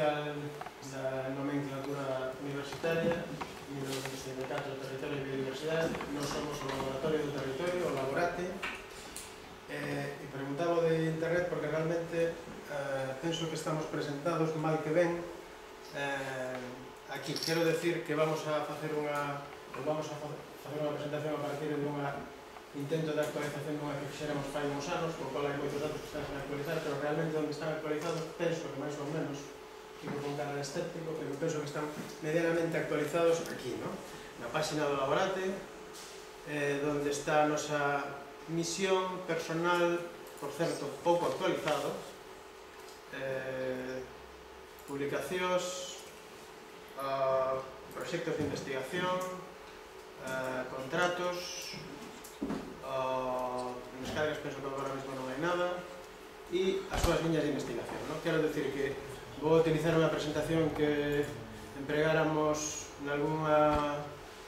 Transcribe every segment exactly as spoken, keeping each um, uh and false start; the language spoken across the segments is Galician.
oficial da nomenclatura universitaria mil novecentos setenta e catro do Territorio e Biodiversidade. Nós somos o Laboratorio do Territorio, o Laborate, e preguntaba de internet porque realmente penso que estamos presentados mal que ben aquí. Quero decir que vamos a facer unha vamos a facer unha presentación a partir de unha intento de actualización dunha que fixéramos fai uns anos, con cola hai moitos datos que están sen actualizar, pero realmente onde están actualizados penso que máis ou menos, fico con cara de escéptico, pero penso que están medianamente actualizados aquí, no? Na página do Laborate, eh, onde está a nosa misión personal, por certo, pouco actualizado, eh, publicacións, uh, proxectos de investigación, uh, contratos, uh, en descargas penso que agora mesmo non hai nada, e as súas liñas de investigación, no? Quero decir que vou utilizar unha presentación que empregáramos en algunha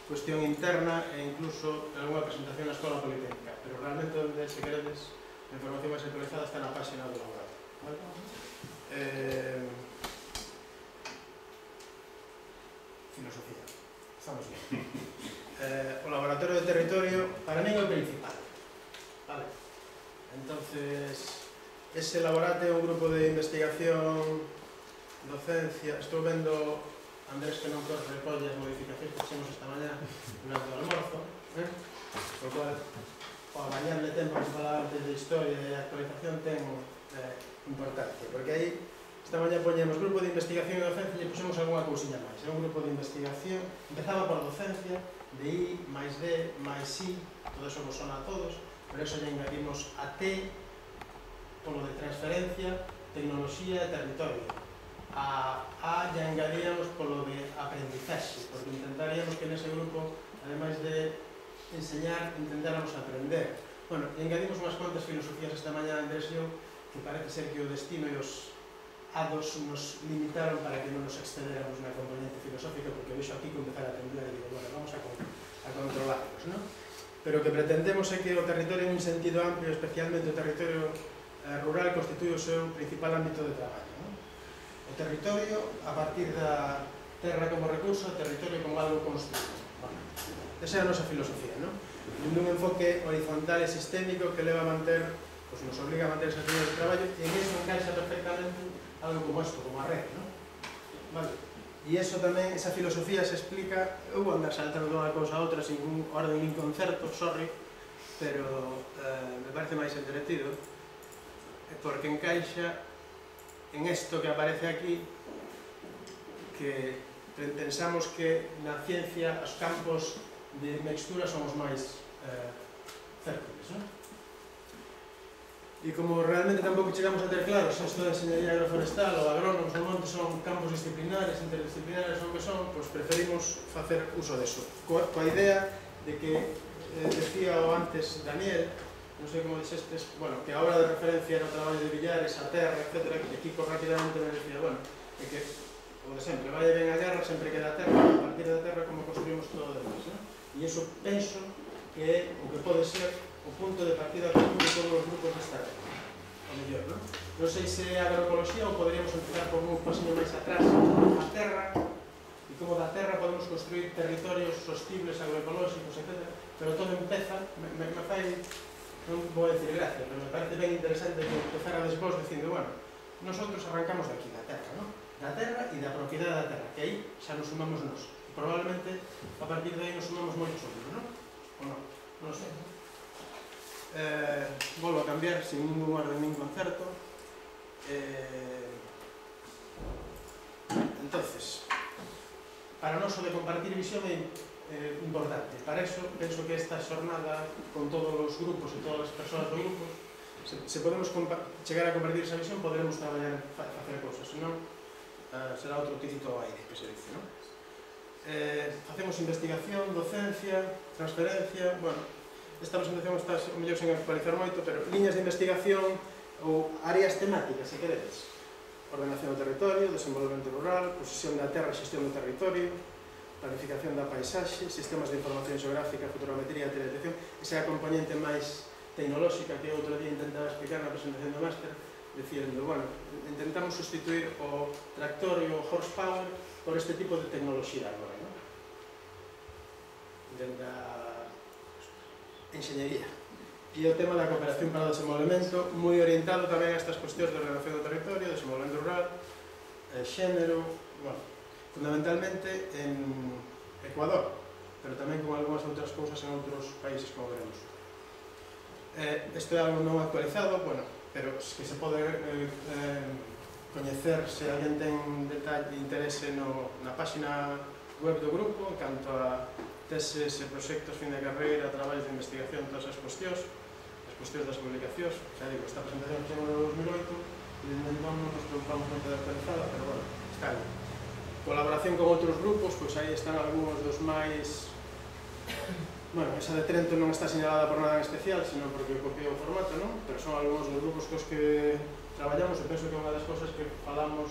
cuestión interna e incluso en algunha presentación na Escola Politécnica, pero realmente onde, se queredes, a información máis actualizada está na página do Laboratorio. Vale? Eh, filosofía. Estamos bien. Eh, o Laboratorio de Territorio, para mí é o principal. Vale. Entonces, ese Laborate é un grupo de investigación, docencia. Estou vendo Andrés que non corre recolle as modificacións que fixemos esta mañá durante o almorzo, eh? Por cual, para bañarle tempo que falaba antes de historia e actualización ten eh, importancia, porque aí esta mañá poñemos grupo de investigación e docencia e puxemos algunha cousiña máis. É un grupo de investigación, empezaba por docencia, de I, máis D, máis I, todo eso vos sona a todos, pero eso lle engadimos a T, polo de transferencia, tecnoloxía e territorio. A A ya engadíamos polo de aprendizaxe, porque intentaríamos que nese grupo, ademais de enseñar, intentáramos aprender. Bueno, e engadimos unhas cuantas filosofías esta mañá, Andrés e eu, que parece ser que o destino e os hados nos limitaron para que non nos excederamos na componente filosófica, porque vexo aquí que empezar a aprender e digo, bueno, vamos a, a controlarnos, non? Pero o que pretendemos é que o territorio en un sentido amplio, especialmente o territorio eh, rural, constituye o seu principal ámbito de traballo, non? O territorio a partir da terra como recurso, o territorio como algo construído. Bueno, esa é a nosa filosofía, non? Un enfoque horizontal e sistémico que leva a manter, pues nos obliga a manter esas líneas de traballo, e en eso encaixa perfectamente algo como esto, como a red, non? Vale. E iso tamén, esa filosofía se explica, eu vou andar saltando de unha cousa a outra sin un orden nin concerto, sorry, pero eh, me parece máis entretido, porque encaixa en isto que aparece aquí, que pensamos que na ciencia os campos de mixtura son os máis eh, fértiles, non? E como realmente tampouco chegamos a ter claros isto de enxeñería agroforestal ou agrónomos ou montes son campos disciplinares, interdisciplinares ou que son, pois preferimos facer uso deso. Coa, coa idea de que, eh, decía o antes Daniel, non sei como dixestes, bueno, que a obra de referencia era o traballo de Villares, a terra, etcétera, que Kiko rapidamente me decía, bueno, é que, o de sempre, vai ben a guerra, sempre queda a terra, a partir da terra como construimos todo o demás, non? E iso penso que é o que pode ser o punto de partida común de todos os grupos desta red, o mellor, non? Non sei se é agroecoloxía ou poderíamos empezar por un pasinho máis atrás, a terra, e como da terra podemos construir territorios sostibles, agroecolóxicos, etcétera, pero todo empeza, me, me, me fai, non vou a decir gracia, pero me parece ben interesante que empezar a desvós dicindo, bueno, nosotros arrancamos de aquí, da terra, non? Da terra e da propiedade da terra, que aí xa nos sumamos nós, e probablemente a partir de aí nos sumamos moitos outros, non? Ou non? Non sei. Eh, volvo a cambiar sin ningún orden nin concerto. Eh, entonces, para nós o de compartir visión é eh, importante. Para eso, penso que esta xornada con todos os grupos e todas as persoas do grupo, se, se podemos chegar a compartir esa visión, poderemos traballar, facer cousas, senón eh, será outro tirito ao aire, que se dice, non? Eh, facemos investigación, docencia, transferencia, bueno, esta presentación está o mellor sen actualizar moito, pero liñas de investigación ou áreas temáticas, se queredes. Ordenación do territorio, desenvolvemento rural, posesión da terra, xestión do territorio, planificación da paisaxe, sistemas de información xeográfica, fotogrametría e teledetección. Esa é a componente máis tecnolóxica que outro día intentaba explicar na presentación do máster, diciendo, bueno, intentamos sustituir o tractor e o horsepower por este tipo de tecnoloxía agora, non? Dende a enxeñería. E o tema da cooperación para o desenvolvemento, moi orientado tamén a estas cuestións de ordenación do territorio, desenvolvemento rural, xénero, bueno, fundamentalmente en Ecuador, pero tamén con algunhas outras cousas en outros países, como veremos. Eh, isto é algo non actualizado, bueno, pero que se pode eh, eh, coñecer se alguén ten detalle, interese no, na página web do grupo, en canto a teses e proxectos, fin de carreira, traballos de investigación, todas as cuestións, as cuestións das publicacións. Xa digo, esta presentación foi no dos mil oito, e desde entón non nos preocupamos moito de actualizada, pero bueno, está aí. Colaboración con outros grupos, pois aí están algúns dos máis... Bueno, esa de Trento non está señalada por nada en especial, sino porque copiou o formato, non? Pero son algúns dos grupos cos que traballamos e penso que unha das cosas que falamos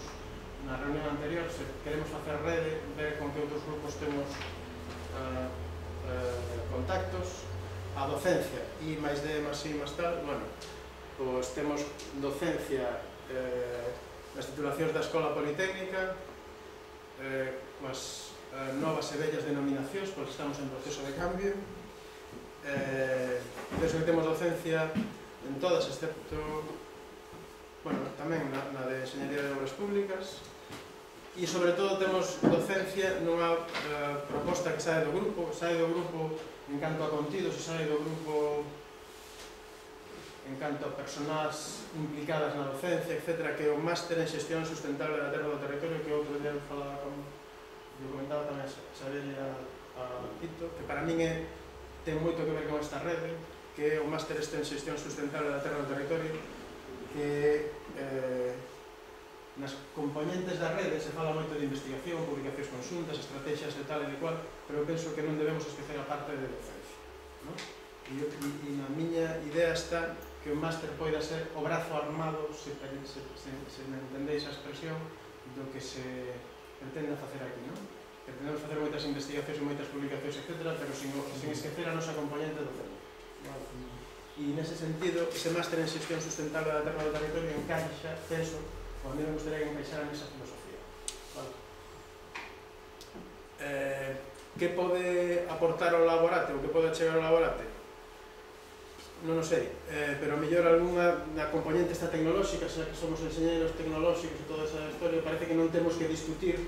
na reunión anterior, se queremos facer rede, ver con que outros grupos temos uh, uh, contactos, a docencia e máis de, máis e máis tal, bueno, pois temos docencia eh, nas titulacións da Escola Politécnica, eh, coas eh, novas e vellas denominacións, porque estamos en proceso de cambio. Eh, penso que temos docencia en todas, excepto, bueno, tamén na, na de Enxeñería de Obras Públicas, e sobre todo temos docencia nunha eh, proposta que sae do grupo, sae do grupo en canto a contidos e sae do grupo en canto a persoas implicadas na docencia, etcétera, que é o Máster en Xestión Sustentable da Terra do Territorio, que outro día falaba con, eu comentaba tamén a Xavier e a, a Tito, que para min é, ten moito que ver con esta rede, que é o Máster en Xestión Sustentable da Terra do Territorio, que eh, nas componentes da rede se fala moito de investigación, publicacións conxuntas, estrategias de tal e de cual, pero eu penso que non debemos esquecer a parte de docencia, non? E, e, e na miña idea está que o máster poida ser o brazo armado, se, se, se, se me entendéis a expresión, do que se pretende facer aquí, non? Pretendemos facer moitas investigacións e moitas publicacións, etcétera, pero sin, sin esquecer a nosa componente docente. Vale. E nese sentido, ese máster en xestión sustentable da terra do territorio encaixa, penso, ou a mí me gustaría que encaixara nesa filosofía. Vale. Eh, que pode aportar ao laborate, ou que pode chegar ao laborate? Non o sei, eh, pero a mellor algunha na componente esta tecnolóxica, xa que somos enxeñeiros tecnolóxicos e toda esa historia, parece que non temos que discutir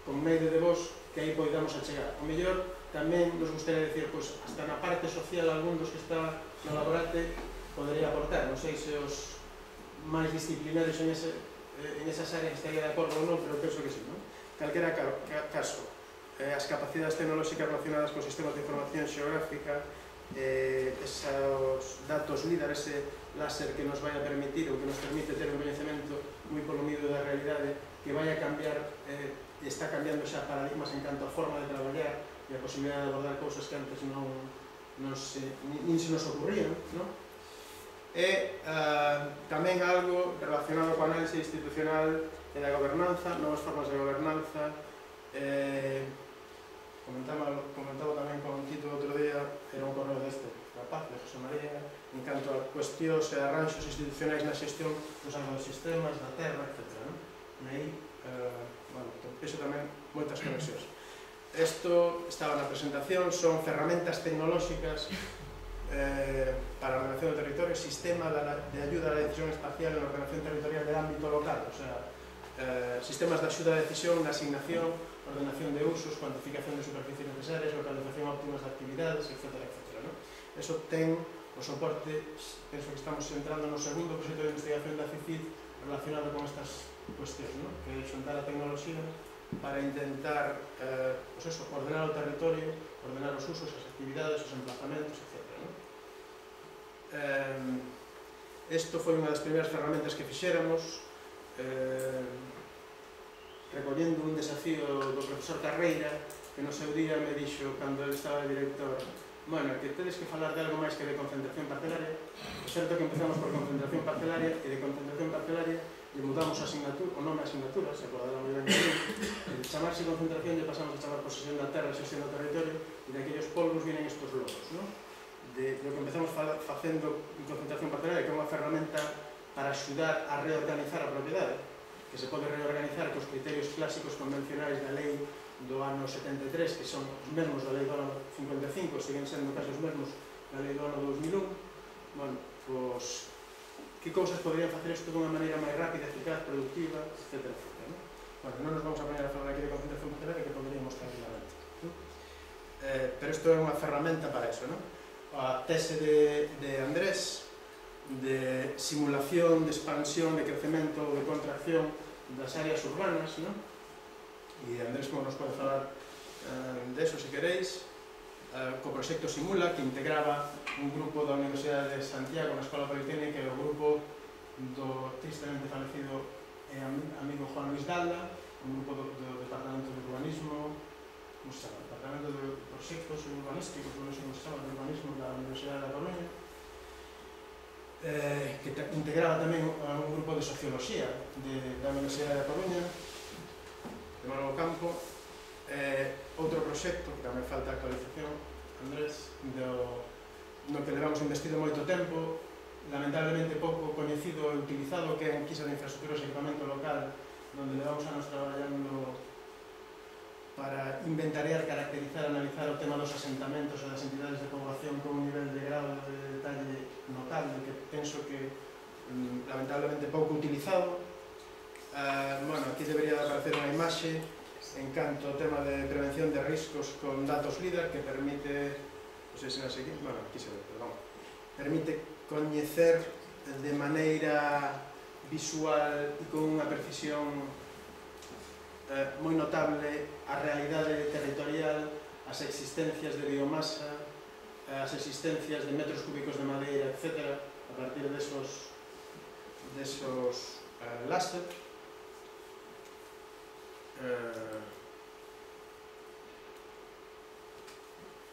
con medio de vos que aí poidamos a chegar. O mellor tamén nos gustaría dicir, pois, hasta na parte social algún dos que está no laborate podería aportar, non sei se os máis disciplinarios en, ese, en esas áreas estaría de acordo ou non, pero penso que sí, non? Calquera caso, eh, as capacidades tecnolóxicas relacionadas con sistemas de información xeográfica, Eh, esos datos LIDAR, ese láser que nos vai a permitir ou que nos permite ter un coñecemento moi polomido da realidade, que vai a cambiar, eh, está cambiando xa paradigmas en canto a forma de traballar e a posibilidade de abordar cousas que antes non, non se, nin se nos ocurrían, non? E uh, tamén algo relacionado coa análise institucional e da gobernanza, novas formas de gobernanza. eh, Comentaba, comentaba tamén con Tito outro día, era un correo deste rapaz, de José María, en canto a cuestións e arranxos institucionais na xestión dos agrosistemas, da terra, etcétera. Non? E aí, eh, bueno, penso tamén moitas conexións. Isto estaba na presentación, son ferramentas tecnolóxicas eh, para a ordenación do territorio, sistema de ayuda a la decisión espacial en ordenación territorial de ámbito local, o sea, eh, sistemas de axuda a decisión, na asignación, ordenación de usos, cuantificación de superficies necesarias, localización óptimas de actividades, etcétera, etcétera. ¿No? Eso ten o soporte, penso que estamos entrando no segundo proxecto de investigación da CICID relacionado con estas cuestións, ¿no? Que é xuntar a tecnoloxía para intentar eh, pues eso, ordenar o territorio, ordenar os usos, as actividades, os emplazamentos, etcétera. ¿No? Eh, esto foi unha das primeiras ferramentas que fixéramos, eh, recollendo un desafío do profesor Carreira, que no seu día me dixo, cando ele estaba de director, bueno, que tedes que falar de algo máis que de concentración parcelaria. É certo que empezamos por concentración parcelaria, e de concentración parcelaria lle mudamos a asignatura, o nome a asignatura, se acordará moi ben de mí, de chamarse concentración lle pasamos a chamar posesión da terra e xestión do territorio, e de aquellos polvos vienen estos logos, ¿no? De lo que empezamos facendo en concentración parcelaria, que é unha ferramenta para axudar a reorganizar a propiedade, que se pode reorganizar cos criterios clásicos convencionais da lei do ano setenta e tres, que son os mesmos da lei do ano cincuenta e cinco, siguen sendo casi os mesmos da lei do ano dos mil un. Bueno, pois, que cousas poderían facer isto dunha maneira máis rápida, eficaz, productiva, etcétera, etcétera, ¿no? Bueno, non nos vamos a poner a falar aquí de concentración funcionaria, que poderíamos tranquilamente, ¿no? Eh, pero isto é unha ferramenta para eso, ¿no? A tese de, de Andrés, de simulación, de expansión, de crecemento, de contracción das áreas urbanas, ¿no? E Andrés como nos pode falar eh, de eso, se queréis, eh, co proxecto Simula, que integraba un grupo da Universidade de Santiago na Escola Politécnica e o grupo do tristemente falecido e amigo Juan Luis Dalda, un grupo do, do Departamento de Urbanismo, como se chama? Departamento de Proxectos Urbanísticos, non sei como se chama, de Urbanismo da Universidade da Coruña, eh, que integraba tamén un grupo de Socioloxía de, da Universidade da Coruña, de Manolo Campo, eh, outro proxecto, que tamén falta actualización, Andrés, do, no que levamos investido moito tempo, lamentablemente pouco coñecido e utilizado, que é en Quisa de Infraestructuras e Equipamento Local, onde levamos anos traballando para inventariar, caracterizar, analizar o tema dos asentamentos e das entidades de población con un nivel de grado de detalle notable, que penso que lamentablemente pouco utilizado. Uh, bueno, aquí debería aparecer unha imaxe en canto ao tema de prevención de riscos con datos LIDAR, que permite, non sei se é así, bueno, aquí se ve, perdón, permite coñecer de maneira visual e con unha precisión eh, moi notable a realidade territorial, as existencias de biomasa, as existencias de metros cúbicos de madeira, etcétera, a partir desos desos eh, láser. Eh,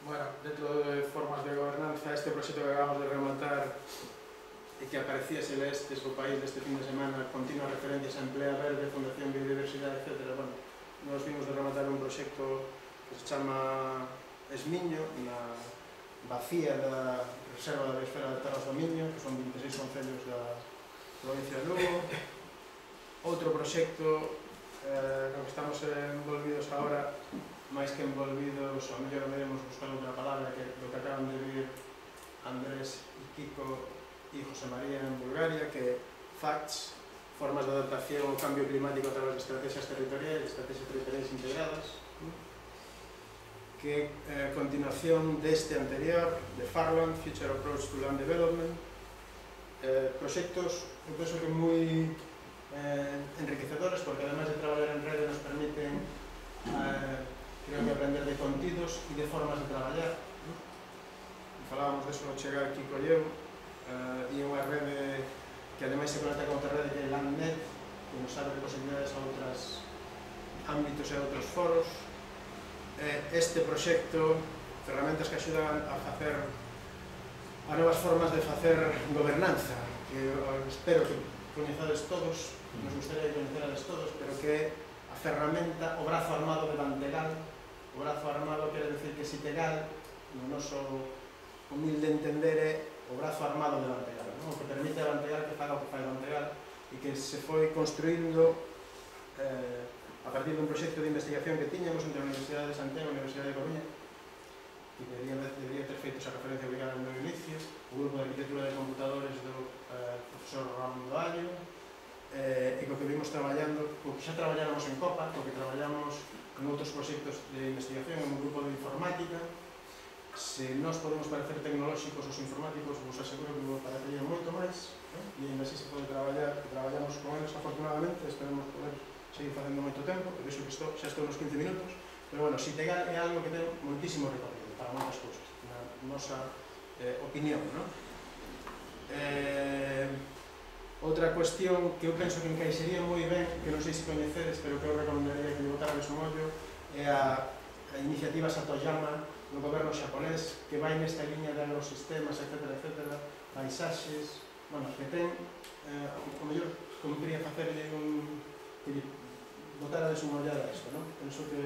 bueno, dentro de formas de gobernanza, este proxecto que acabamos de rematar e que aparecía se lestes o país deste fin de semana, continua referencias a Emplea Verde, Fundación Biodiversidade, etcétera. Bueno, nos vimos de rematar un proxecto que se chama Esmiño, na vacía da Reserva da Biosfera de Terras do Miño, que son vinte e seis concellos da provincia de Lugo. Outro proxecto Eh, no que estamos envolvidos agora, máis que envolvidos, ao mellor veremos buscar outra palabra, que do que acaban de vir Andrés e Kiko e José María en Bulgaria, que FACTS, formas de adaptación ao cambio climático a través de estrategias territoriais, estrategias territoriais integradas, que é eh, continuación deste anterior, de Farland, Future Approach to Land Development, eh, proxectos, eu penso que moi Eh, enriquecedores, porque además de traballar en rede nos permiten eh, creo que aprender de contidos e de formas de traballar, ¿no? E falábamos deso ao chegar Kiko e eu, eh, e unha rede que ademais se conecta con outra rede que é LandNet, que nos abre posibilidades a outros ámbitos e a outros foros. Eh, este proxecto, ferramentas que axudan a facer a novas formas de facer gobernanza, que eh, espero que coñezades todos, nos gustaría que coñeceades todos, pero que é a ferramenta, o brazo armado de Bantegal. O brazo armado quere decir que Sitegal, no noso humilde entender, é o brazo armado de Bantegal, ¿no? O que permite a Bantegal que faga o que fai Bantegal, e que se foi construindo eh, a partir dun proxecto de investigación que tiñamos entre a Universidade de Santiago e a Universidade de Coruña, que debería, debería ter feito esa referencia obligada no meu inicio, o grupo de arquitectura de computadores do eh, profesor Ramón Doallo, eh, e co que vimos traballando, co que xa traballáramos en COPA, co que traballamos en outros proxectos de investigación, en un grupo de informática. Se nós podemos parecer tecnolóxicos os informáticos, vos aseguro que vos parecería moito máis, eh? E ainda así se pode traballar, traballamos con eles afortunadamente, esperemos poder seguir facendo moito tempo, por iso que estou, xa estou nos quince minutos, pero bueno, Sitegal é algo que ten moitísimo recorrido para moitas cousas, na nosa eh, opinión, non? Eh, outra cuestión que eu penso que encaixería moi ben, que non sei se coñecedes, pero que eu recomendaría que lle botarades un ollo, é a, a iniciativa Satoyama do goberno xaponés, que vai nesta liña de agrosistemas, etcétera, etcétera, paisaxes, bueno, que ten, eh, o mellor, conviría facerlle un, que lle botarades unha ollada a isto, non? Penso que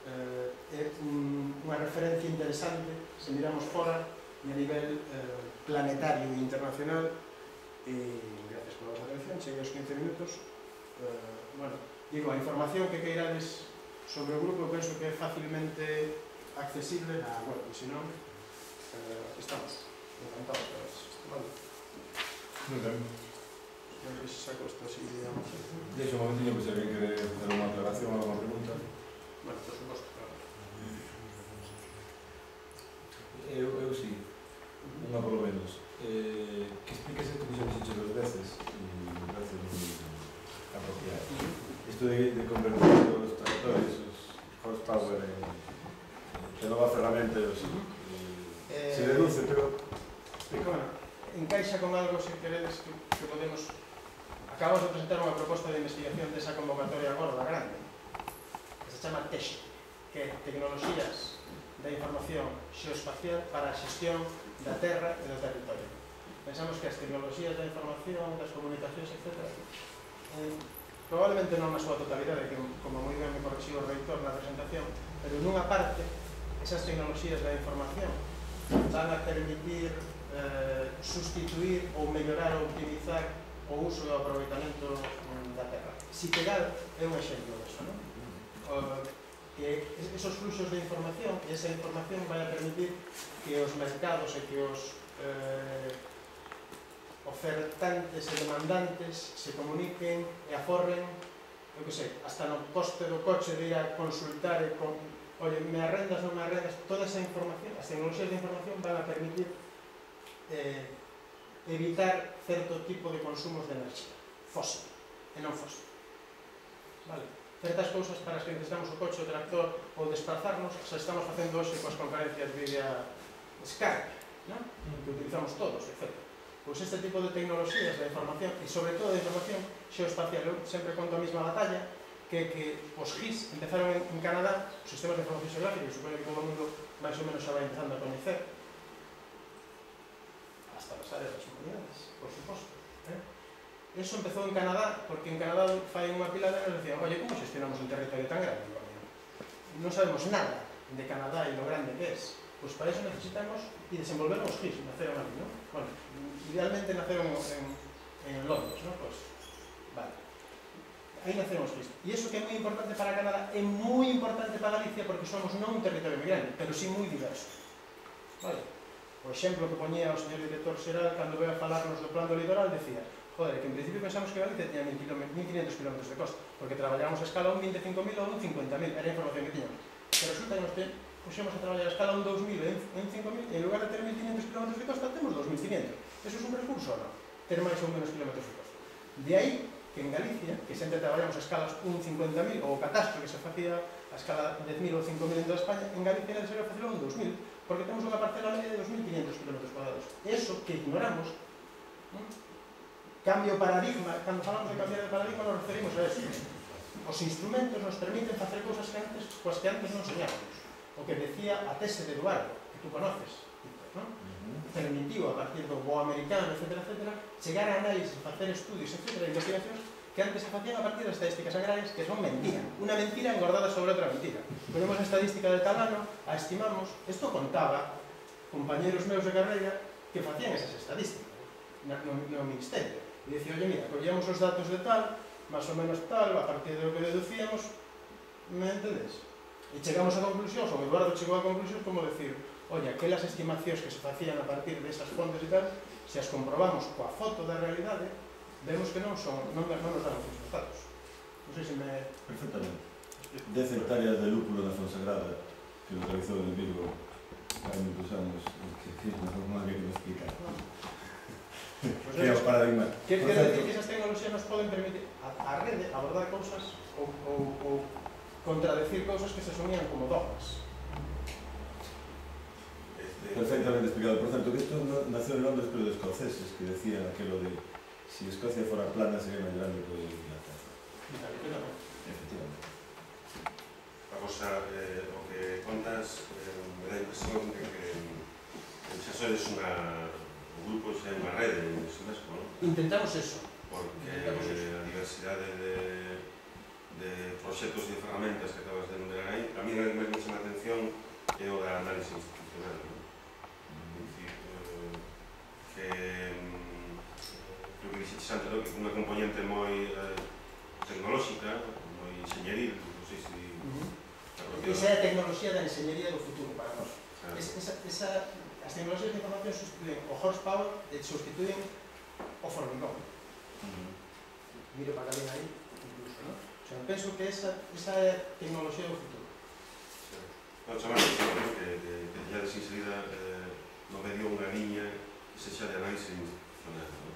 eh, é un, unha referencia interesante, se miramos fora, e a nivel eh, planetario e internacional, e gracias por a vosa atención, cheguei aos quince minutos. Eh, bueno, digo, a información que queirades sobre o grupo penso que é facilmente accesible na web, e se non, eh, estamos encantados para eso. Vale. Muy ben. Creo que se saco esto así, digamos. Deixa un momentinho, que se alguén quere facer unha aclaración ou unha pregunta. Bueno, por suposto, claro. Eu, eu sí, unha polo menos. Eh, que expliques isto que xa dixeche dos veces e me parece moi apropiado. Isto de, de convertir os tractores, os horsepower en, en nova ferramenta, os, eh, se deduce, pero... Bueno, encaixa con algo, se queredes, que, que podemos... Acabamos de presentar unha proposta de investigación desa convocatoria gorda, grande, que se chama TEXE, que é Tecnoloxías da Información Xeoespacial para a Xestión da Terra e do Territorio. Pensamos que as tecnoloxías da información, das comunicacións, etcétera, eh, probablemente non na súa totalidade, que como moi ben me corrixiu o reitor na presentación, pero nunha parte, esas tecnoloxías da información van a permitir eh, sustituir ou mellorar ou optimizar o uso e o aproveitamento da terra. Sitegal é un exemplo disso, non? O, que esos fluxos de información e esa información vai a permitir que os mercados e que os eh, ofertantes e demandantes se comuniquen e aforren, eu que sei, hasta no poste do coche de ir a consultar e con, oye, me arrendas, non me arrendas, toda esa información, as tecnoloxías de información van a permitir eh, evitar certo tipo de consumos de enerxía fósil e non fósil, vale? Certas cousas para as que necesitamos o coche, o tractor ou desplazarnos, xa estamos facendo hoxe coas conferencias vía Skype, non? Que utilizamos todos, etcétera. Pois este tipo de tecnoloxías da información e sobre todo da información xeoespacial, eu sempre conto a mesma batalla, que que os G I S empezaron en, en Canadá, os sistemas de información xeográfica, que supoño que todo o mundo máis ou menos xa vai empezando a coñecer, hasta as áreas das comunidades, por suposto. Eh? Eso empezou en Canadá, porque en Canadá fai unha pila de anos decían, oye, como xestionamos un territorio tan grande? Non sabemos nada de Canadá e lo grande que é. Pois para eso necesitamos e desenvolver os G I S, naceron ali, non? Bueno, idealmente naceron en, en Londres, non? Pois, vale. Aí naceron os G I S. E iso que é moi importante para Canadá é moi importante para Galicia porque somos non un territorio moi grande, pero sí moi diverso. Vale? O exemplo que poñía o señor director xeral cando veio a falarnos do plan do litoral decía, joder, que en principio pensamos que Galicia tiña mil quinientos kilómetros de costa, porque traballábamos a escala un veinticinco mil ou un cincuenta mil, era a información que tiñamos. Pero resulta que nos puxemos a traballar a escala un dos mil e un cinco mil, e en lugar de ter mil quinientos kilómetros de costa, temos dos mil quinientos. Eso é un recurso ou non? Ter máis ou menos kilómetros de costa. De aí que en Galicia, que sempre traballamos a escalas un cincuenta mil, ou o catastro que se facía a escala dez mil ou cinco mil en toda España, en Galicia era necesario facelo un dos mil, porque temos unha parcela media de dos mil quinientos kilómetros cuadrados. Eso que ignoramos, ¿no? Cambio paradigma, cando falamos de cambiar de paradigma nos referimos a eso. Os instrumentos nos permiten facer cousas que antes, coas que antes non soñábamos. O que decía a tese de Eduardo, que tú conoces, ¿no? Permitiu a partir do bo americano, etcétera, etcétera, chegar a análisis, facer estudios, etcétera, investigacións que antes se facían a partir das estadísticas agrarias, que son mentira. Una mentira engordada sobre outra mentira. Ponemos a estadística de tal ano, a estimamos, isto contaba compañeros meus de carreira que facían esas estadísticas no, no ministerio. E dicía, oye, mira, collíamos os datos de tal, máis ou menos tal, a partir do que deducíamos, me entendes? E chegamos a conclusións, ou Eduardo chegou a conclusións como decir, oye, aquelas estimacións que se facían a partir desas fontes e tal, se as comprobamos coa foto da realidade, vemos que non son, non, non nos dan os resultados. Non sei se me... Perfectamente. Dez hectáreas de lúpulo na Fonsagrada, que lo realizou en Vigo hai muitos anos, que, que non había que me explicar. Pues que é o paradigma. Quer decir que esas tecnoloxías nos poden permitir a, a rede abordar cousas ou, ou, ou contradecir cousas que se sonían como dogmas. Perfectamente explicado. Por tanto, que isto no, nació en Londres pero de escoceses, que decían aquelo de si Escocia fora plana sería máis grande que Inglaterra. Efectivamente. A cosa, eh, o que contas, eh, me dá a impresión de que eh, xa sodes unha un grupo, xa é unha rede en Ximesco, non? Intentamos eso. Porque Intentamos eso. a diversidade de, de proxectos e ferramentas que acabas de enumerar aí, a mí me chama a atención é o da análise institucional, non? É dicir, eh, que creo que dixetes antes, no? Que é unha componente moi eh, tecnolóxica, moi enxeñeril, non sei se... Esa é a tecnoloxía da enxeñería do futuro para nós. Claro. Es, esa, esa, as tecnoloxías de información sustituyen o horsepower e sustituyen o formigón. Uh-huh. Miro para alguén aí, incluso, non? O sea, penso que esa, esa é a tecnoloxía do futuro. Non, chamar a atención, ¿no? que, que, que ya desinserida eh, no medio unha liña que se xa de análise institucional, ¿no?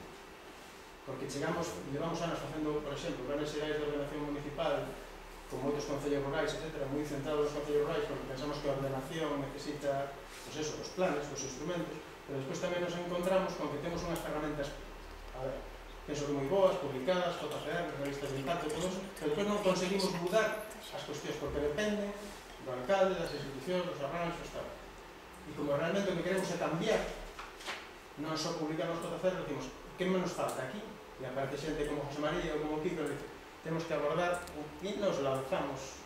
Porque chegamos, levamos anos facendo, por exemplo, planes xerais de ordenación municipal con moitos concellos rurais, etcétera, moi centrados nos concellos rurais, porque pensamos que a ordenación necesita, pues eso, os planes, os instrumentos, pero despois tamén nos encontramos con que temos unhas ferramentas, a ver, penso que moi boas, publicadas, J C R, revistas de impacto, todo eso, pero despois non conseguimos mudar as cuestións, porque depende do alcalde, das institucións, dos arranxos, tal. E como realmente o que queremos é cambiar, non só publicar nos J C R, decimos, que menos falta aquí? E aparte xente como José María ou como Kiko, dice, temos que abordar e nos lanzamos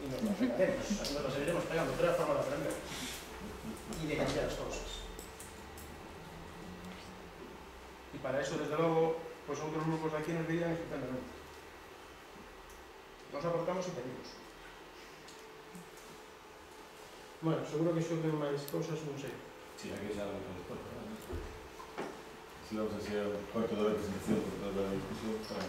e nos lo pegaremos, nos lo seguiremos pegando, pero é a forma de aprender e de cambiar as cousas. E para eso, desde logo, pues outros grupos de aquí nos dirían estupendamente. Nos aportamos e pedimos. Bueno, seguro que xurden máis cousas, non sei. Sí, aquí xa lo que despois, ¿no? Si vamos a ser cuarto de la presentación, por toda la discusión, para...